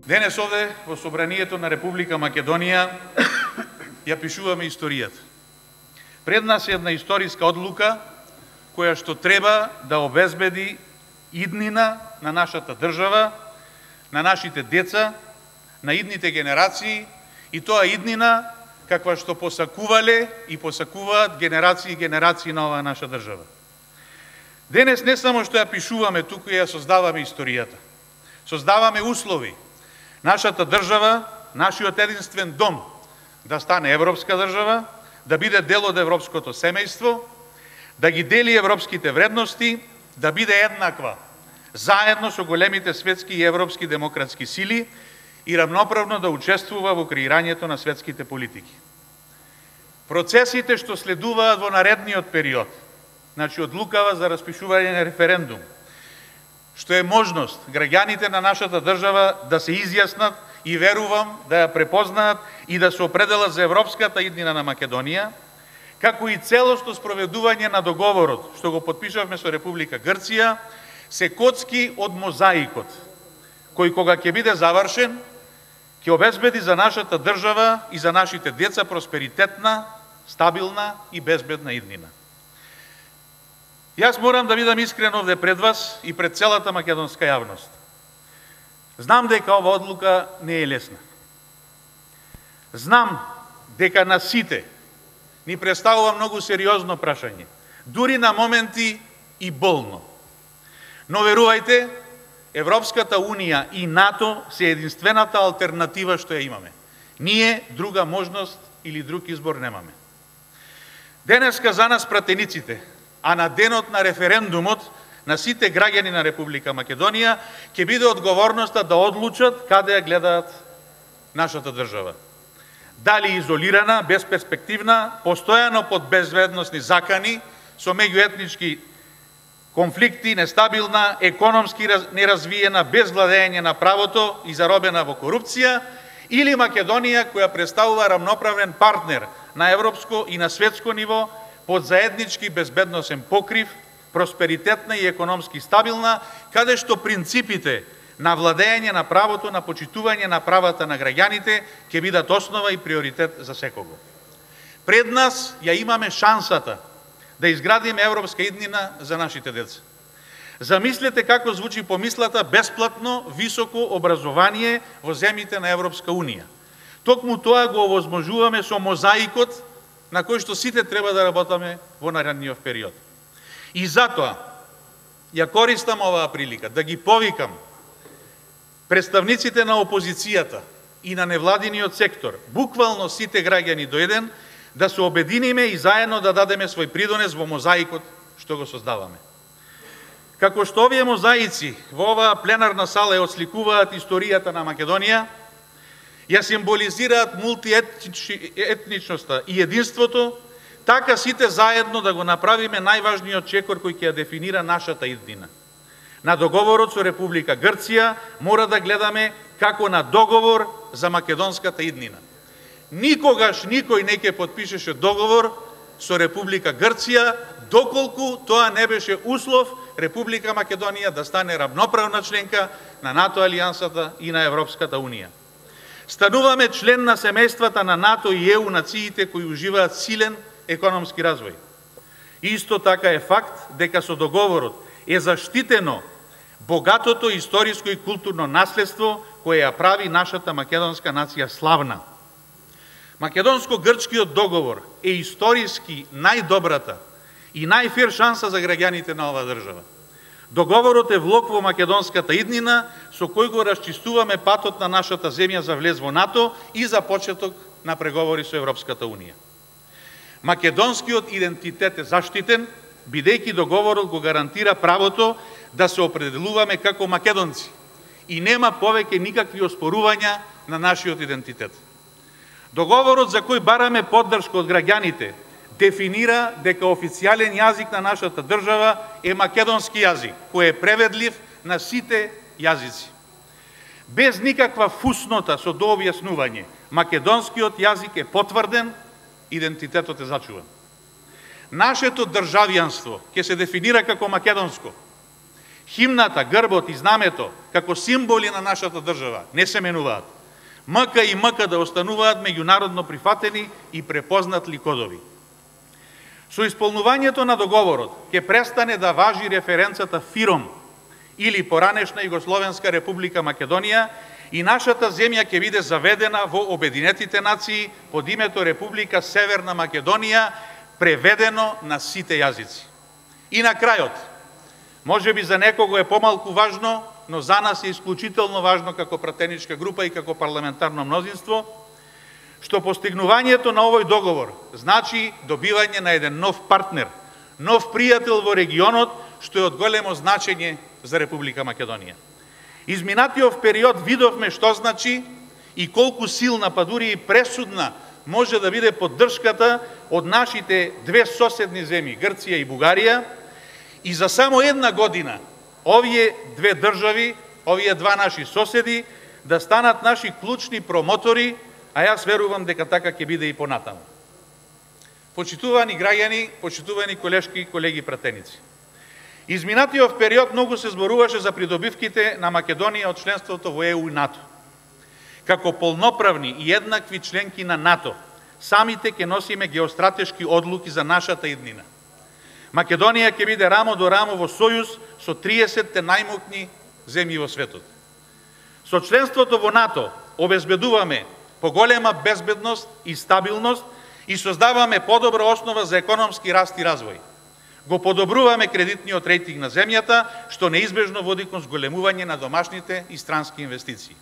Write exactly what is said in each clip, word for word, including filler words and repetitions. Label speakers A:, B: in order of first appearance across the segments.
A: Денес овде во Собранието на Република Македонија ја пишуваме историјата. Пред нас е една историска одлука која што треба да обезбеди иднина на нашата држава, на нашите деца, на идните генерации, и тоа иднина каква што посакувале и посакуваат генерации и генерации на оваа наша држава. Денес не само што ја пишуваме, туку ја создаваме историјата. Создаваме услови нашата држава, нашиот единствен дом, да стане европска држава, да биде дел од европското семејство, да ги дели европските вредности, да биде еднаква, заедно со големите светски и европски демократски сили и равноправно да учествува во креирањето на светските политики. Процесите што следуваат во наредниот период, значи одлукава за распишување на референдум, што е можност граѓаните на нашата држава да се изјаснат и верувам да ја препознаат и да се определат за европската иднина на Македонија, како и целосно спроведување на договорот што го потпишавме со Република Грција, се коцки од мозаикот, кој кога ќе биде завршен, ќе обезбеди за нашата држава и за нашите деца просперитетна, стабилна и безбедна иднина. Јас морам да бидам искрен овде пред вас и пред целата македонска јавност. Знам дека ова одлука не е лесна. Знам дека на сите ни представува многу сериозно прашање, дури на моменти и болно. Но верувајте, Европската Унија и НАТО се единствената алтернатива што ја имаме. Ние друга можност или друг избор немаме. Денеска за нас пратениците, а на денот на референдумот на сите граѓани на Република Македонија ќе биде одговорноста да одлучат каде ја гледаат нашата држава. Дали изолирана, безперспективна, постојано под безбедносни закани, со меѓуетнички конфликти, нестабилна, економски неразвиена, без владење на правото и заробена во корупција, или Македонија која представува рамноправен партнер на европско и на светско ниво, под заеднички безбедносен покрив, просперитетна и економски стабилна, каде што принципите на владење на правото, на почитување на правата на граѓаните ќе бидат основа и приоритет за секого. Пред нас ја имаме шансата да изградиме европска иднина за нашите деца. Замислете како звучи помислата бесплатно високо образование во земјите на Европска Унија. Токму тоа го овозможуваме со мозаикот на кој што сите треба да работаме во наредниот период. И затоа ја користам оваа прилика да ги повикам представниците на опозицијата и на невладиниот сектор, буквално сите граѓани до еден, да се обединиме и заедно да дадеме свој придонес во мозаикот што го создаваме. Како што овие мозаици во оваа пленарна сала ја отсликуваат историјата на Македонија, ја символизираат мултиетничноста и единството, така сите заедно да го направиме најважниот чекор кој ќе ја дефинира нашата иднина. На договорот со Република Грција мора да гледаме како на договор за македонската иднина. Никогаш никој не ќе потпишеше договор со Република Грција, доколку тоа не беше услов Република Македонија да стане равноправна членка на НАТО алијансата и на Европската Унија. Стануваме член на семејствата на НАТО и ЕУ нациите кои уживаат силен економски развој. Исто така е факт дека со договорот е заштитено богатото историско и културно наследство кое ја прави нашата македонска нација славна. Македонско-грчкиот договор е историски најдобрата и најфер шанса за граѓаните на оваа држава. Договорот е влог во македонската иднина со кој го расчистуваме патот на нашата земја за влез во НАТО и за почеток на преговори со Европската Унија. Македонскиот идентитет е заштитен, бидејќи договорот го гарантира правото да се определуваме како македонци и нема повеќе никакви оспорувања на нашиот идентитет. Договорот за кој бараме поддршка од граѓаните дефинира дека официјален јазик на нашата држава е македонски јазик, кој е преведлив на сите јазици. Без никаква фуснота со дообјаснување, македонскиот јазик е потврден, идентитетот е зачуван. Нашето државјанство ќе се дефинира како македонско. Химната, грбот и знамето, како символи на нашата држава, не се менуваат. МК и МК да остануваат меѓународно прифатени и препознатли кодови. Со исполнувањето на договорот ќе престане да важи референцата ФИРОМ или поранешна Југословенска република Македонија и нашата земја ќе биде заведена во Обединетите нации под името Република Северна Македонија, преведено на сите јазици. И на крајот, може би за некого е помалку важно, но за нас е исклучително важно како пратеничка група и како парламентарно мнозинство, што постигнувањето на овој договор значи добивање на еден нов партнер, нов пријател во регионот, што е од големо значење за Република Македонија. Изминатиот период видовме што значи и колку силна, па дури и пресудна, може да биде поддршката од нашите две соседни земји, Грција и Бугарија, и за само една година овие две држави, овие два наши соседи, да станат наши клучни промотори, а јас верувам дека така ќе биде и понатаму. Почитувани граѓани, почитувани колешки и колеги пратеници, изминатиот период многу се зборуваше за придобивките на Македонија од членството во Е У и НАТО. Како полноправни и еднакви членки на НАТО, самите ќе носиме геостратешки одлуки за нашата иднина. Македонија ќе биде рамо до рамо во сојуз со триесетте најмокни земји во светот. Со членството во НАТО обезбедуваме поголема безбедност и стабилност и создаваме подобра основа за економски раст и развој. Го подобруваме кредитниот рейтинг на земјата, што неизбежно води кон зголемување на домашните и странски инвестиции.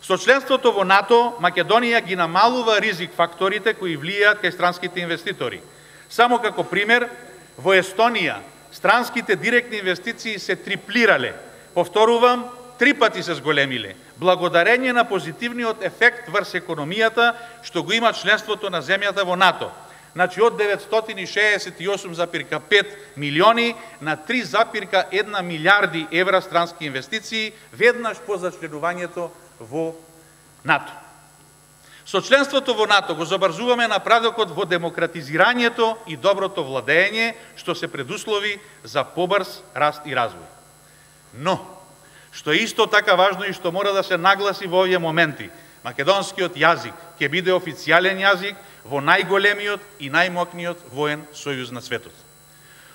A: Со членството во НАТО, Македонија ги намалува ризик факторите кои влијаат кај странските инвеститори. Само како пример, во Естонија странските директни инвестиции се триплирале, повторувам, три пати се зголемиле, благодарење на позитивниот ефект врз економијата што го има членството на земјата во НАТО. Значи од деветстотини шеесет и осум зарез пет милиони на три зарез една милиарди евра странски инвестиции веднаш по зачленувањето во НАТО. Со членството во НАТО го забрзуваме напредокот во демократизирањето и доброто владење, што се предуслови за побрз раст и развој. Но, што е исто така важно и што мора да се нагласи во овие моменти, македонскиот јазик ќе биде официјален јазик во најголемиот и најмокниот воен сојуз на светот.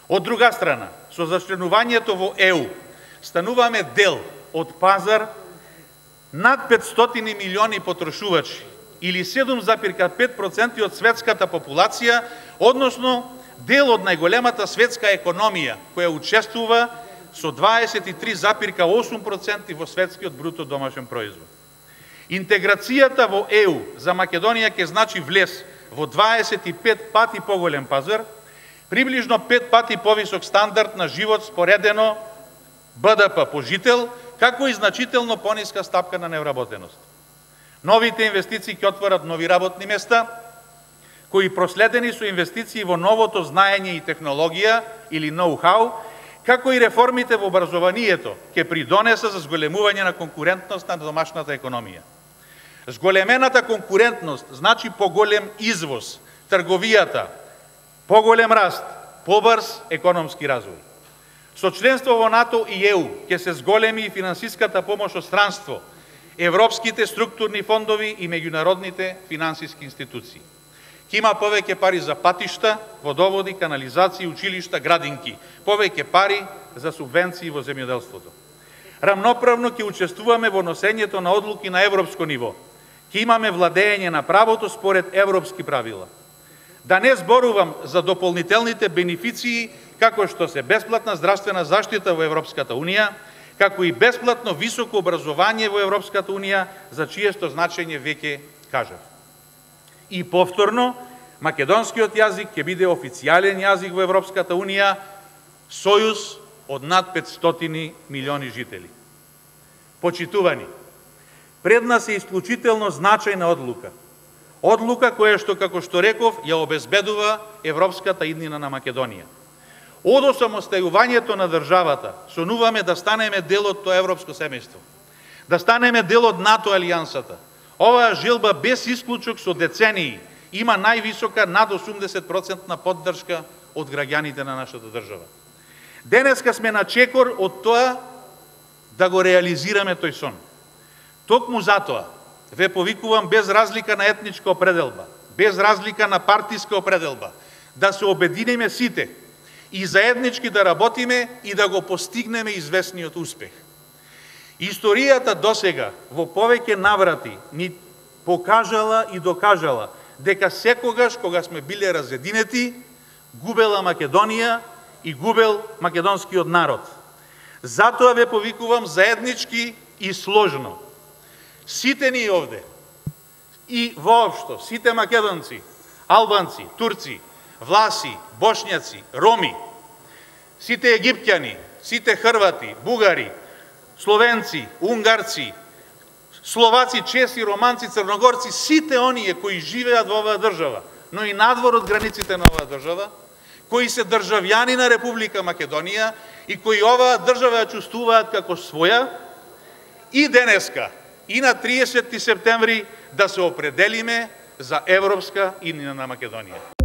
A: Од друга страна, со зачленувањето во Е У, стануваме дел од пазар над петстотини милиони потрошувачи, или седум зарез пет проценти од светската популација, односно дел од најголемата светска економија, која учествува со дваесет и три зарез осум проценти во светскиот бруто домашен производ. Интеграцијата во Е У за Македонија ќе значи влез во дваесет и пет пати поголем пазар, приближно пет пати повисок стандард на живот споредено Б Д П по жител, како и значително пониска стапка на невработеност. Новите инвестиции ќе отворат нови работни места, кои проследени со инвестиции во новото знаење и технологија или ноу-хау, како и реформите во образованието ќе придонеса за зголемување на конкурентност на домашната економија. Зголемената конкурентност значи поголем извоз, трговијата, поголем раст, побрз економски развој. Со членство во НАТО и Е У ќе се зголеми и финансиската помош од странство, европските структурни фондови и меѓународните финансиски институции. Ќе има повеќе пари за патишта, водоводи, канализации, училишта, градинки, повеќе пари за субвенции во земјоделството. Рамноправно ќе учествуваме во носењето на одлуки на европско ниво. Ќе имаме владење на правото според европски правила. Да не зборувам за дополнителните бенефиции, како што се бесплатна здравствена заштита во Европската Унија, како и бесплатно високо образование во Европската Унија, за чиесто значење веќе кажав. И повторно, македонскиот јазик ќе биде официјален јазик во Европската Унија, сојуз од над петстотини милиони жители. Почитувани, пред нас е исклучително значајна одлука. Одлука која што, како што реков, ја обезбедува европската иднина на Македонија. Од осамостајувањето на државата, сонуваме да станеме дел од тоа европско семејство, да станеме дел од НАТО алијансата. Оваа желба без исклучок со децении има највисока над осумдесет проценти поддршка од граѓаните на нашата држава. Денеска сме на чекор од тоа да го реализираме тој сон. Токму затоа ве повикувам без разлика на етничка определба, без разлика на партиска определба, да се обединиме сите и заеднички да работиме и да го постигнеме известниот успех. Историјата досега во повеќе наврати ни покажала и докажала дека секогаш кога сме биле разединети, губела Македонија и губел македонскиот народ. Затоа ве повикувам заеднички и сложно. Сите ни овде и воопшто, сите македонци, албанци, турци, власи, бошњаци, роми, сите египтјани, сите хрвати, бугари, словенци, унгарци, словаци, чеси, романци, црногорци, сите оние кои живеат во оваа држава, но и надвор од границите на оваа држава, кои се државјани на Република Македонија и кои оваа држава ја чувствуваат како своја, и денеска, и на триесетти септември, да се определиме за европска иднина на Македонија.